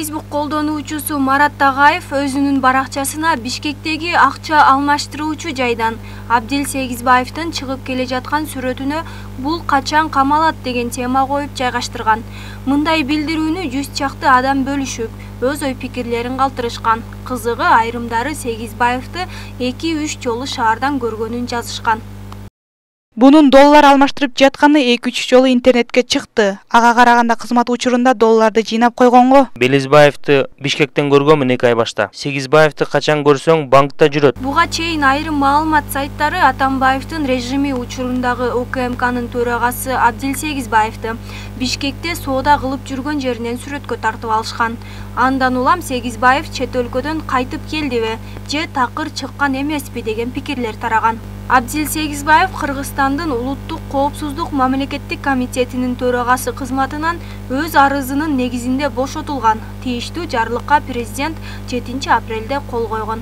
Facebook колдонуучусу Марат Тагаев өзүнүн баракчасына Бишкектеги акча алмаштыруучу жайдан Абдил Сегизбаевдин чыгып келе жаткан сүрөтүнө «Бул качан камалат» деген тема коюп жайгаштырган. Мындай билдирүүнү 100 чакты адам бөлүшүп, өз ой пикирлерин калтырышкан. Кызыгы, айрымдары Сегизбаевди 2-3 жолу шаардан көргөнүн жазышкан. Бунун доллар алмаштырып жатканы 2-3 жолу интернетке чыкты. Ага караганда кызмат учурунда долларды жыйнап койгонго. Белизбаевди Бишкектен көргөнмүн 2 ай башта. Сегизбаевди качан көрсөң банкта жүрөт. Буга чейин айрым маалымат сайттары Атамбаевдин режими учурундагы УКМКнын төрагасы Абдил Сегизбаевди Бишкекте соода кылып жүргөн жеринен сүрөткө тартып алышкан. Андан улам Сегизбаев чет өлкөдөн кайтып келдиби же такыр чыккан эмеспи деген пикирлер тараган. Абдил Сегизбаев Кыргызстандын улуттук коопсуздук мамлекеттик комитетинин төрагасы кызматынан өз арызынын негизинде бошотулган. Тийиштүү жарлыкка президент 7 апрелде кол койгон.